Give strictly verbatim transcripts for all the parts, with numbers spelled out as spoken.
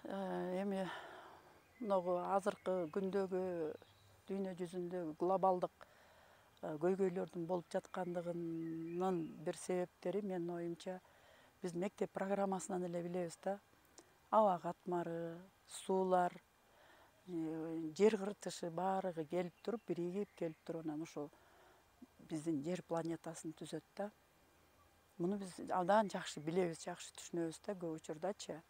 эми могу азыркы күндөгү дүйнө жүзүндөгү глобалдык көйгөйлөрдүн болуп жаткандыгынын бир себептери менин оюмча биз мектеп программасынан эле билебиз да. Аба катмары, суулар, жер кыртышы баардыгы келип туруп, биригип келип туруп анан ошол биздин жер планетасын түзөт да. Муну биз абдан жакшы билебиз, жакшы түшүнөбүз да көп учурдачы.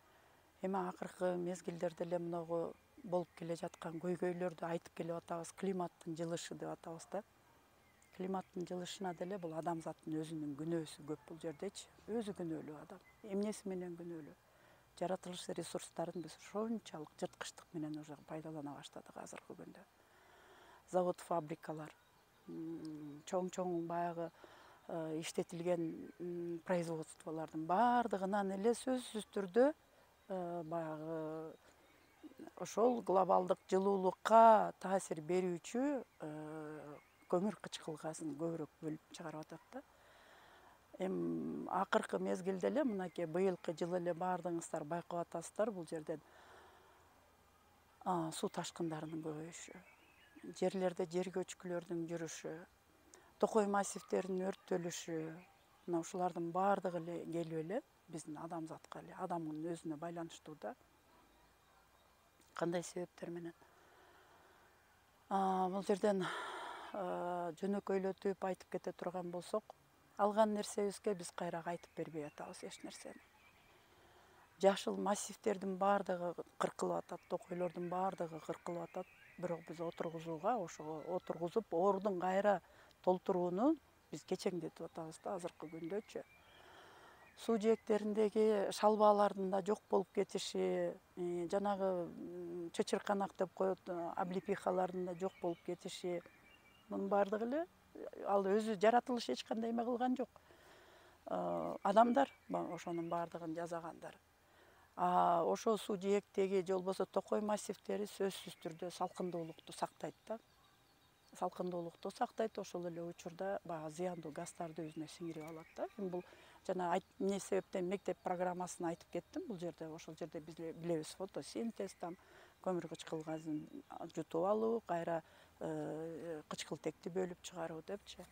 Эми акыркы мезгилдерде эле могу болуп келе жаткан көйгөйлөрдү айтып келип атабыз, климаттын жылышы деп атабыз да. Климаттын жылышына деле бул адамзаттын өзүнүн күнөөсү көп бул жердечи. Өзү күнөөлүү адам. Эмнеси менен күнөөлүү? Жаратылыш ресурстарын биз ошончолук жырткычтык менен уже пайдалана баштадык азыркы күндө. Завод, фабрикалар, чоң-чоң баягы иштетилген производстволордун баардыгынан эле сөзсүз түрдө баягы ошол глобалдык жылуулукка таасир берүүчү көмүр кычкыл газын көбүрөөк бөлүп чыгарып атат да. Эми акыркы мезгилде эле мынакей быйылкы жылы эле баардыгыңыздар байкап атасыздар, бул жерден суу ташкындарынын көбөйүшү, жерлерде жер көчкүлөрдүн жүрүшү, токой массивдеринин өрттөлүшү, мына ушулардын баардыгы эле келип эле биздин адамзатка эле, адамдын өзүнө байланыштуу да. Кандай себептер менен? Бул жерден жөнөкөйлөтүп айтып кете турган болсок, алган нерсебизге биз кайра кайтып бербей атабыз эч нерсени. Жашыл массивдердин баардыгы кыркылып атат, токойлордун баардыгы кыркылып атат, бирок биз отургузууга, ошого отургузуп, ордун кайра толтурууну биз кечеңдетип атабыз да азыркы күндөчү. Суу жээктериндеги шалбалардын да жок болуп кетиши, жанагы чычырканак деп коет, облепихалардын да жок болуп кетиши, мунун баардыгы эле ал өзү жаратылыш эч кандай эме кылган жок. Адамдар ошонун баардыгын жасагандар. А ошол суу жээктеги же болбосо токой массивдери сөзсүз түрдө салкындуулукту сактайт да. Салкындуулукту сактайт, ошол эле учурда баягы зыяндуу газдарды өзүнө сиңирип алат да. Эми бул жана эмне себептен мектеп программасын айтып кеттим. Бул жерде ошол жерде биз билебиз фотосинтез, там көмүр кычкыл газын жутуп алуу, кайра кычкылтекти бөлүп чыгаруу депчи.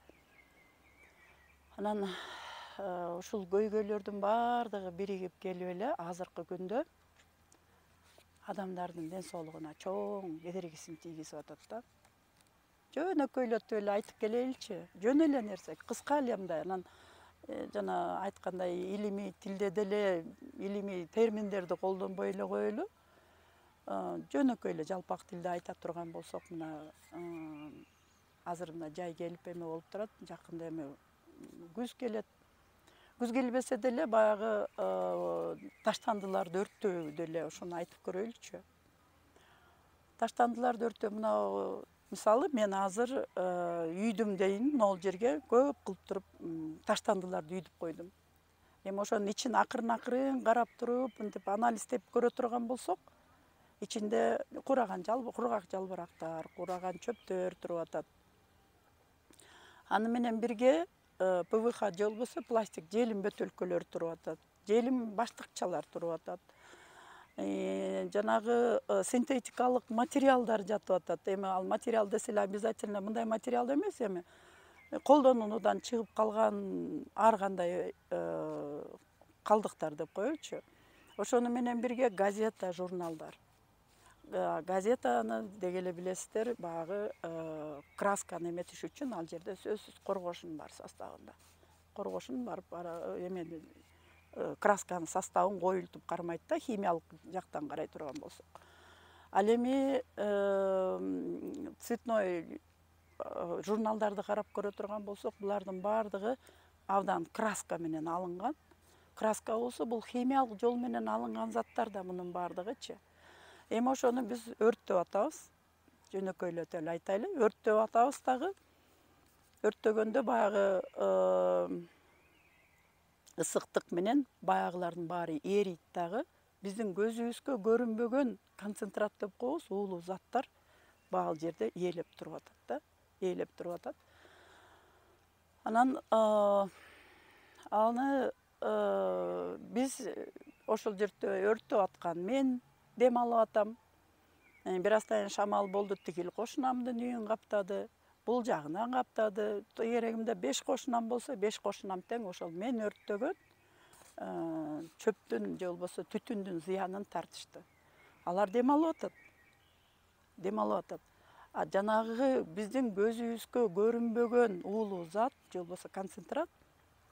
Анан ушул көйгөйлөрдүн баардыгы биригип келип эле азыркы күндө адамдардын ден соолугуна чоң кедергисин тийгизип атат да. Жөнөкөйлөтүп эле айтып келеличи, жөн эле нерсе, кыска эле мындай. Анан жана айткандай илимий тилде деле илимий терминдерди колдонбой эле коелу. Жөнөкөй эле жалпак тилде айта турган болсок, мына азыр мына жай келип эме болуп турат, жакында эме күз келет. Күз келбесе деле баягы таштандыларды өрттөө деле ошону айтып көрөйлүчү. Таштандыларды өрттөө, мына мисалы мен азыр үйдүм дейин, могул жерге көп кылып туруп таштандыларды үйдүп койдум. Эми ошонун ичин акырын-акырын карап туруп, мынтип анализдеп көрө турган болсок, ичинде кураган кургак жалбырактар, кураган чөптөр туруп атат. Аны менен бирге ПВХ же болбосо пластик желим бөтөлкөлөр туруп атат, желим баштыкчалар туруп атат. Жанагы синтетикалык материалдар жатып атат. Эми ал материал десе эле обязательно мындай материал эмес, эми колдонуудан чыгып калган ар кандай калдыктар деп коелучу. Ошону менен бирге газета, журналдар. Газетаны деги эле билесиздер, баягы красканы эметиш үчүн ал жерде сөзсүз коргошун бар составында. Коргошун бар, эме красканын составын коюлтуп кармайт да, химиялык жактан карай турган болсок. Ал эми цветной журналдарды карап көрө турган болсок, булардын баардыгы абдан краска менен алынган. Краска болсо бул химиялык жол менен алынган заттар да мунун баардыгычы. Эми ошону биз өрттөп атабыз. Жөнөкөйлөтүп эле айтайлы, өрттөп атабыз дагы. Өрттөгөндө баягы ысыктык менен баягылардын баары эрийт дагы. Биздин көзүбүзгө көрүнбөгөн концентрат деп коебуз, уулуу заттар баал жерде ээлеп туруп атат да, ээлеп туруп атат. Анан аны биз ошол жерде өрттөп аткан мен дем алып атам. Бир аздан шамал болду, тигил кошунамдын үйүн каптады, бул жагынан каптады. Керегимде беш кошунам болсо, беш кошунам тең ошол мен өрттөгөн чөптүн же болбосо түтүндүн зыянын тартышты. Алар дем алып атат. Дем алып атат. А жанагы биздин көзүбүзгө көрүнбөгөн уулуу зат же болбосо концентрат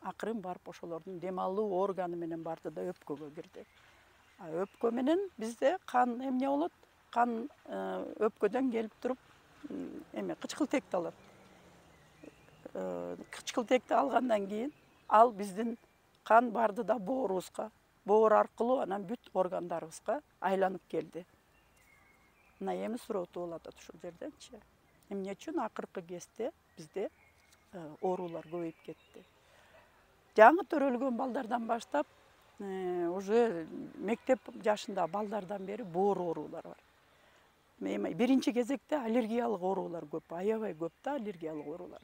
акырын барып ошолордун дем алуу органы менен барды да өпкөгө кирди. А өпкө менен бизде кан эмне болот? Кан өпкөдөн келип туруп эме кычкылтекти алат. Кычкылтекти алгандан кийин ал биздин кан барды да боорубузга, боор аркылуу анан бүт органдарыбызга айланып келди. Мына эми суроо болуп атат ушул жерденчи. Эмне үчүн акыркы кезде бизде оорулар көбөйүп кетти? Жаңы төрөлгөн балдардан баштап уже мектеп жашында балдардан бери боор оорулар бар. Биринчи кезекте аллергиялык оорулар көп, аябай көп да аллергиялык оорулар.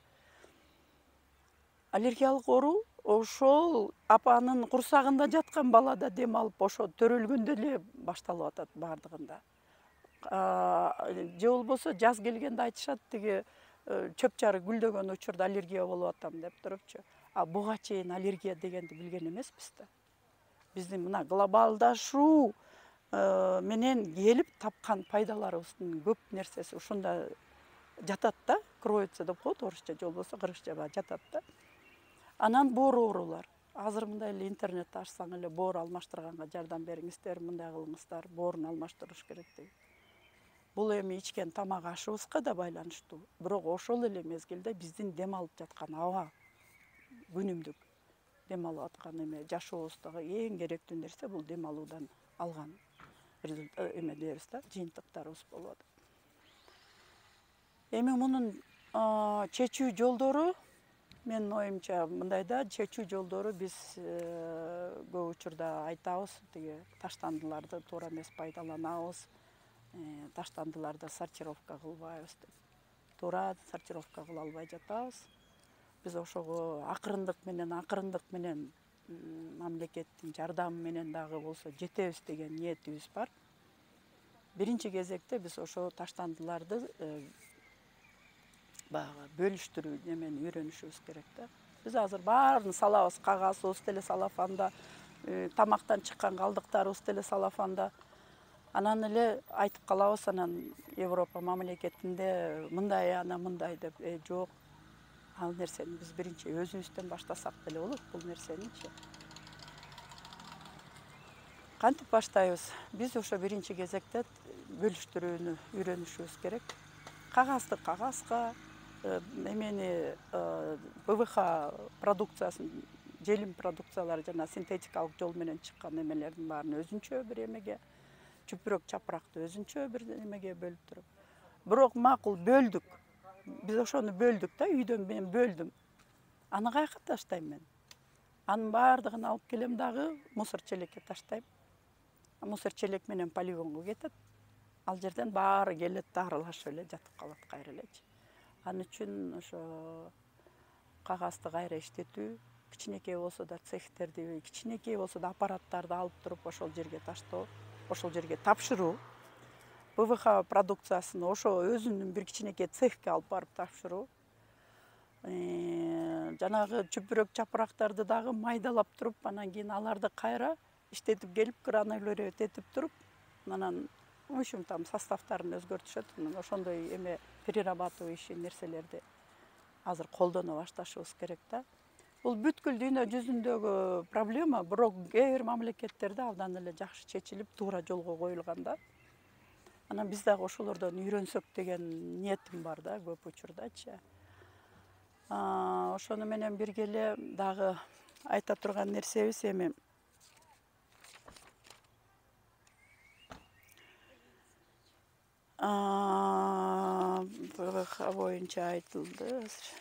Аллергиялык оору ошол апанын курсагында жаткан балада дем алып, ошо төрөлгөндө эле башталып атат бардыгында. Же болбосо жаз келгенде айтышат, тиги чөп чары гүлдөгөн учурда аллергия болуп атам деп турупчу. А буга чейин аллергия дегенди билген эмеспиз да. Биздин мына глобалдашуу менен келип тапкан пайдаларыбыздын көп нерсеси ушунда жатат да, кроется деп коет орусча, же болбосо кыргызча жатат да. Анан боор оорулар. Азыр мындай эле интернетти ачсаң эле боор алмаштырганга жардам бериңиздер, мындай кылыңыздар, боорун алмаштырыш керек деп. Бул эми ичкен тамак ашыбызга да байланыштуу. Бирок ошол эле мезгилде биздин дем алып жаткан аба, күнүмдүк дем алып аткан эме жашообуздагы эң керектүү нерсе бул дем алуудан алган эмелерибиз да, жыйынтыктарыбыз болуп атат. Эми мунун чечүү жолдору менин оюмча мындай да, чечүү жолдору биз көп учурда айтабыз, тиги таштандыларды туура эмес пайдаланабыз, таштандыларды сортировка кылбайбыз деп. Туура сортировка кыла албай жатабыз. Биз ошого акырындык менен, акырындык менен мамлекеттин жардамы менен дагы болсо жетебиз деген ниетибиз бар. Биринчи кезекте биз ошо таштандыларды баягы бөлүштүрүү немени үйрөнүшүбүз керек да. Биз азыр баарын салабыз, кагазыбыз деле салафанда, тамактан чыккан калдыктарыбыз деле салафанда. Анан эле айтып калабыз, анан Европа мамлекетинде мындай, ана мындай деп, э жок. Ал нерсени биз биринчи өзүбүздөн баштасак деле болот бул нерсеничи. Кантип баштайбыз? Биз ошо биринчи кезекте бөлүштүрүүнү үйрөнүшүбүз керек. Кагазды кагазга, эмени ПВХ продукциясын, желим продукциялары жана синтетикалык жол менен чыккан эмелердин баарын өзүнчө бир эмеге, чүпүрөк чапыракты өзүнчө бир эмеге бөлүп туруп. Бирок макул бөлдүк. Биз ошону бөлдүк да, үйдөн мен бөлдүм. Аны каяка таштайм мен? Анын баардыгын алып келем дагы мусор челекке таштайм. Мусор челек менен полигонго кетет. Ал жерден баары келет да аралашып эле жатып калат кайра элечи. Ал үчүн ошо кагазды кайра иштетүү, кичинекей болсо да цехтерди, кичинекей болсо да аппараттарды алып туруп ошол жерге таштоо, ошол жерге тапшыруу. ПВХ продукциясын ошо өзүнүн бир кичинекей цехке алып барып тапшыруу. Жанагы чүпүрөк чапырактарды дагы майдалап туруп, анан кийин аларды кайра иштетип келип, гранулировать этип туруп, анан в общем там составтарын өзгөртүшөт. Ошондой эме перерабатывающий нерселерди азыр колдоно башташыбыз керек да. Бул бүткүл дүйнө жүзүндөгү проблема, бирок кээ бир мамлекеттерде абдан эле жакшы чечилип, туура жолго коюлган да. Анан биз дагы ошолордон үйрөнсөк деген ниетим бар да, көп учурдачы. Ошону менен бирге эле дагы айта турган нерсебиз эми ПВХ боюнча айтылды азыр.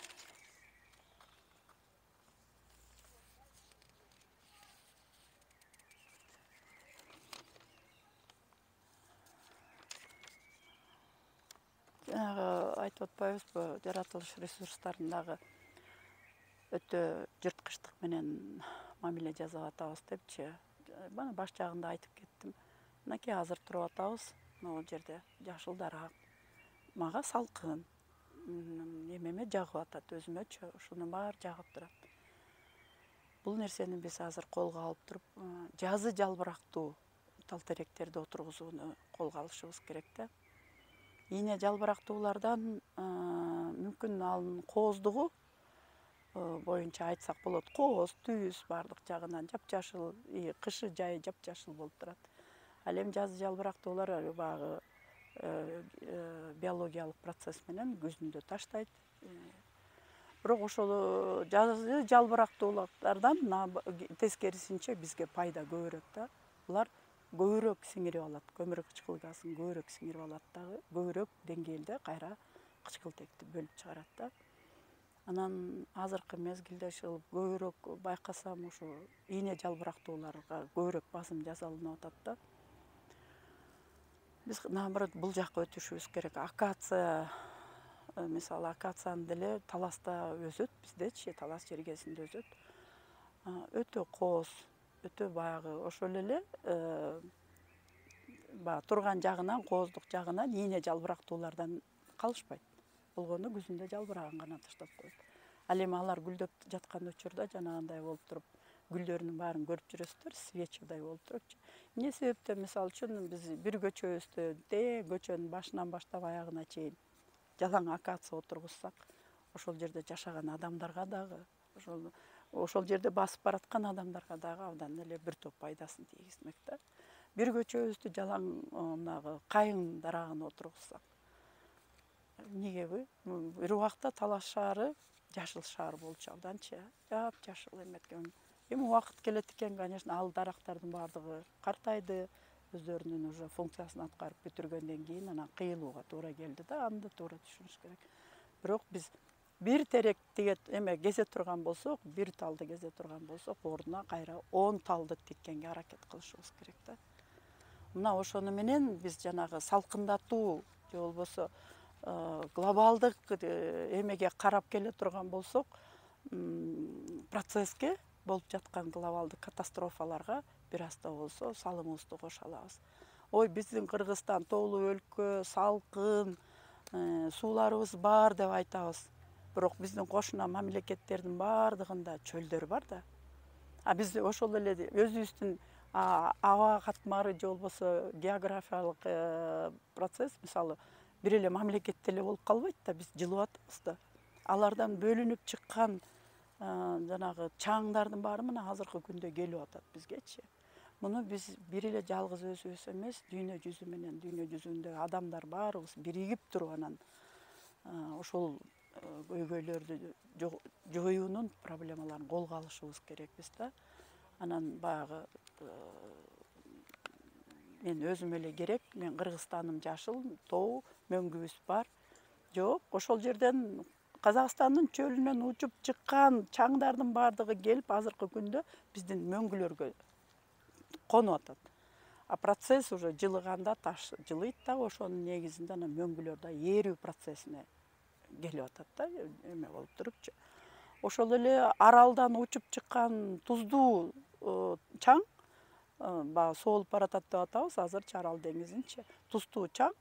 Айтып атпайбызбы, жаратылыш ресурстарындагы өтө жырткычтык менен мамиле жасап атабыз депчи. Бана баш жагында айтып кеттим. Мынакей азыр туруп атабыз. Могу жерде жашыл дарак. Мага салкын. Эмеме жагып атат, өзүмөчү ушунун баары жагып турат. Бул нерсени биз азыр колго алып туруп, жазы жалбырактуу тал теректерди отургузууну колго алышыбыз керек да. Ийне жалбырактуулардан мүмкүн анын кооздугу боюнча айтсак болот. Кооз, түз баардык жагынан жапжашыл, кышы жайы жапжашыл болуп турат. Ал эми жазы жалбырактуулар баягы биологиялык процесс менен күзүндө таштайт. Бирок ошол жазы жалбырактуулардан тескерисинче бизге пайда көбүрөөк да. Булар көбүрөөк сиңирип алат, көмүр кычкыл газын көбүрөөк сиңирип алат дагы, көбүрөөк деңгээлде кайра кычкылтекти бөлүп чыгарат да. Анан азыркы мезгилде ушул көбүрөөк байкасам, ушу ийне жалбырактууларга көбүрөөк басым жасалынып атат да. Биз наоборот бул жакка өтүшүбүз керек. Акация, мисалы акациянын деле таласта өсөт, биздечи талас жергесинде өсөт. Өтө кооз, өтө баягы ошол эле баягы турган жагынан, кооздук жагынан ийне жалбырактуулардан калышпайт. Болгону күзүндө жалбыраган гана таштап коет. Ал эми алар гүлдөп жаткан учурда жанагындай болуп туруп, гүлдөрүнүн баарын көрүп жүрөсүздөр, свечадай болуп турупчу. Эмне себептен мисалы үчүн биз бир көчөбүздө тең көчөнүн башынан баштап аягына чейин жалаң акация отургузсак, ошол жерде жашаган адамдарга дагы, ошол ошол жерде басып бараткан адамдарга дагы абдан эле бир топ пайдасын тийгизмек да. Бир көчөбүздү жалаң мынагы кайың дарагына отургузсак, эмнегеби? Бир убакта Талас шаары жашыл шаар болчу абданчы, жапжашыл эметкен. Эми убакыт келет экен, конечно, ал дарактардын баардыгы картайды, өздөрүнүн уже функциясын аткарып бүтүргөндөн кийин анан кыйылууга туура келди да, аны да туура түшүнүш керек. Бирок биз бир терек тиге эме кезе турган болсок, бир талды кезе турган болсок, ордуна кайра он талды тиккенге аракет кылышыбыз керек да. Мына ошону менен биз жанагы салкындатуу же болбосо глобалдык эмеге карап келе турган болсок, процесске, болуп жаткан глобалдык катастрофаларга бир аз да болсо салымыбызды кошо алабыз. Ой, биздин Кыргызстан тоолуу өлкө, салкын, сууларыбыз бар деп айтабыз. Бирок биздин кошуна мамлекеттердин баардыгында чөлдөр бар да. А биз ошол эле өзүбүздүн аба катмары же болбосо географиялык процесс, мисалы, бир эле мамлекетте эле болуп калбайт да, биз жылып атабыз да. Алардан бөлүнүп чыккан жанагы чаңдардын баары мына азыркы күндө келип атат бизгечи. Муну биз бир эле жалгыз өзүбүз эмес, дүйнө жүзү менен, дүйнө жүзүндөгү адамдар баарыбыз биригип туруп анан ошол көйгөйлөрдү жоюунун проблемаларын колго алышыбыз керекпиз да. Анан баягы мен өзүм эле керек, мен Кыргызстаным жашыл, тоо, мөңгүбүз бар. Жок, ошол жерден Казакстандын чөлүнөн учуп чыккан чаңдардын баардыгы келип азыркы күндө биздин мөңгүлөргө конуп атат. А процесс уже жылыганда таш жылыйт да, ошонун негизинде анан мөңгүлөр да эрүү процессине келип атат да, эме болуп турупчу. Ошол эле аралдан учуп чыккан туздуу чаң, баягы соолуп баратат деп атабыз, азырчы Арал деңизинчи, туздуу чаң,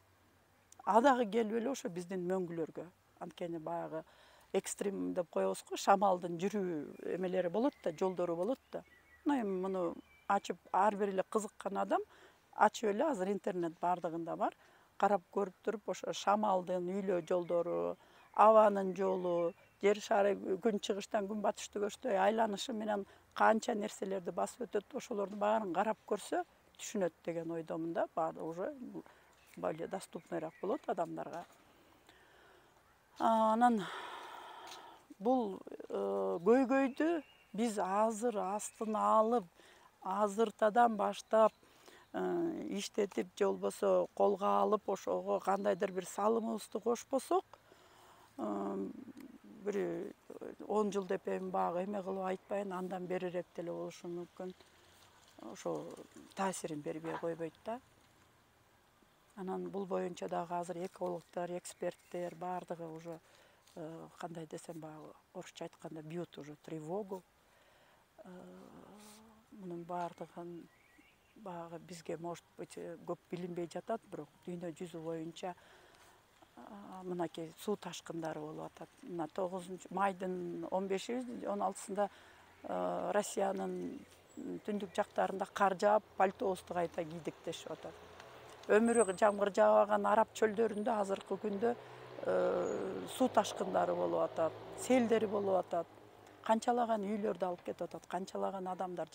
а дагы келип эле ошо биздин мөңгүлөргө, анткени баягы экстрим деп коебуз го, шамалдын жүрүү эмелери болот да, жолдору болот да. Эми муну ачып, ар бир эле кызыккан адам ачып эле, азыр интернет баардыгында бар, карап көрүп туруп, ошо шамалдын үйлөө жолдору, абанын жолу, жер шары күн чыгыштан күн батышты көчтөй айланышы менен канча нерселерди басып өтөт, ошолордун баарын карап көрсө түшүнөт деген ойдомун да, баары уже более доступныйраак болот адамдарга. Анан бул көйгөйдү биз азыр астына алып, азыртадан баштап иштетип же болбосо колго алып, ошого кандайдыр бир салымыбызды кошпосок, бир он жыл деп эми баягы эме кылып айтпайын, андан берирээк деле болушу мүмкүн. Ошо таасирин бербей койбойт да. Анан бул боюнча дагы азыр экологдор, эксперттер баардыгы уже кандай десем, баягы орусча айтканда бьют уже тревогу. Мунун баардыгын баягы бизге может быть көп билинбей жатат, бирок дүйнө жүзү боюнча мынакей суу ташкындары болуп атат. Мына тогузунчу майдын он беши он алтысында Россиянын түндүк жактарында кар жаап, пальтобузду кайта кийдик дешип атат. Өмүрү жамгыр жаабаган араб чөлдөрүндө азыркы күндө суу ташкындары болуп атат, селдер болуп атат. Канчалаган үйлөрдү алып кетип атат, канчалаган адамдар